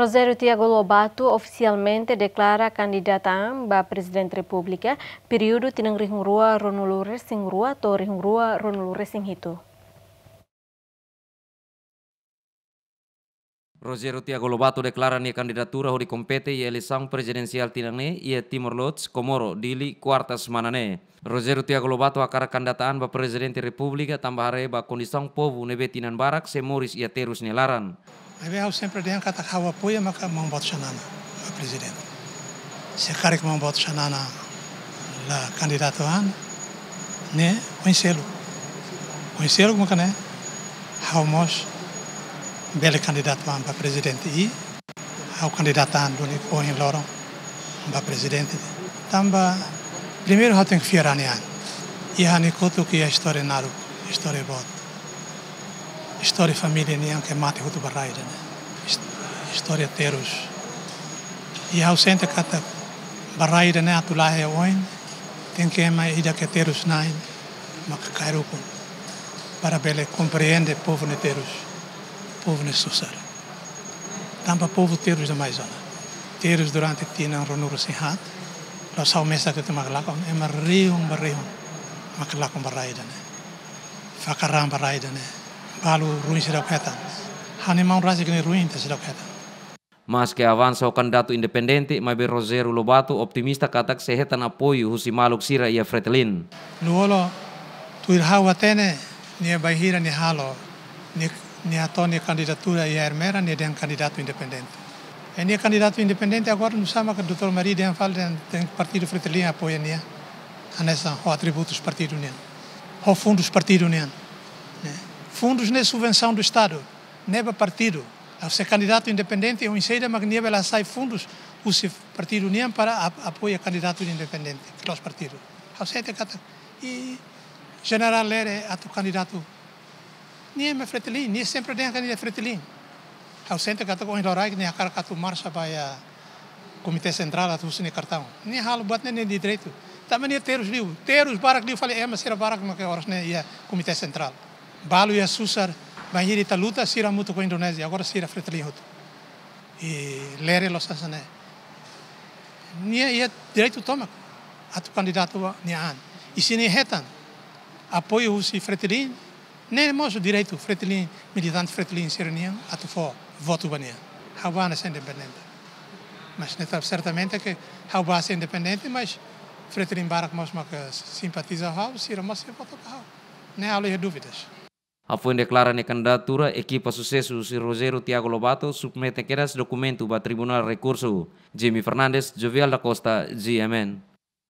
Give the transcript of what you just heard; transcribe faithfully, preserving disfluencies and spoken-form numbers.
Rogério Tiago Lobato ofisialmente deklara kandidata an ba Prezidente Repúblika, períodu tinan rihun rua ruanulu resin rua to'o rihun rua ruanulu resin hitu. Rogério Tiago Lobato deklara nia kandidatura hodi kompete iha eleisaun prezidensiál tinan ne'e iha Timor-Leste, Komoro, Dili, kuarta semana ne'e. Rogério Tiago Lobato hakarak kandidata an ba Prezidente Repúblika tanba haree ba kondisaun povu ne'ebé tinan barak sei moris iha terus nia laran. Maibé ha'u sempre dehan katak ha'u apoia maka Maun Boot Xanana ba Prezidente. Se karik Maun Boot Xanana la kandidatu an, ne'e oin seluk. Oin seluk maka ne'e ha'u mós bele kandidatu an ba Prezidente i ha'u kandidata an duni ohin loron ba Prezidente. Tanba primeiru ha'u tenke fiar ha'u-nia an. I ha'u-nia kotuk iha istória naruk, istória boot. Istória família nian ke mate hotu ba rai ida-ne'e. Is-, istória terus. I ha'u sente katak ba rai ida-ne'e atu la'o iha oin, tenke ema ida ke terus na'in, maka kaer ukun. Para bele komprende povu ne'e terus, povu ne'e susar. Tanba povu terus demais ona. Terus durante tinan ruanulu resin haat, la'ós ha'u mesak de'it mak lakon, ema rihun ba rihun mak lakon ba rai ida-ne'e. Fakar raan ba rai ida-ne'e. Balu ruin seidauk hetan. Ha'u-nia maun rasik ne'e ruin ita seidauk hetan. Maske avansa ho kandidatu independente, maibé Rogério Lobato optimista katak sei hetan apoiu husi maluk sira iha Fretilin. Lú-Olo, tuir ha'u hatene, nia bainhira nia halo, nia, nia hato'o nia kandidatura iha Ermera, nia dehan kandidatu independente. I nia kandidatu independente agora nusá mak Doutór Mari dehan fali dehan, dehan partidu Fretilin apoia nia. Hanesan ho atributus partidu nian. Ho fundus partidu nian. Ne'e. Fundus ne'e subvensaun do Estadu. Ne'e ba partidu. Ha'u sei kandidatu independente, oinsá ida mak nia bele hasai fundus husi partidu nian para ap-, apoia kandidatu independente, ke la'ós partidu. Ha'u sente katak, i Jenerál Lere atu kandidatu. Nia ema Fretilin, nia sempre dehan katak nia Fretilin. Ha'u sente katak ohin loraik nia hakarak atu marxa ba iha Komité Sentrál atu husu nia kartaun. Nia halo buat ne'e nia direitu. Tanba nia terus liu, terus barak liu fali ema sira barak mak oras ne'e iha Komité Sentrál. Balu iha susar, bainhira ita luta, sira hamutuk ho Indonézia, agora sira Fretilin hotu. I Lere la'ós hanesan ne'e. Nia iha direitu tomak atu kandidatu ba nia an. I se nia hetan apoiu husi Fretilin, ne'e mós direitu Fretilin, militante Fretilin sira-nian atu fó votu ba nia. Ha'u bá hanesan independente. Mas ne'e sertamente ke ha'u bá hanesan independente, mas Fretilin barak mós mak simpatiza ha'u, sira mós sei vota ba ha'u. Ne'e ha'u la iha dúvidas. Hafoin deklara nia kandidatura, ekipa susesu husi Rogério Tiago Lobato submete kedas dokumentu ba Tribunál Rekursu. Jimmy Fernandes, Jovial da Costa, G M N.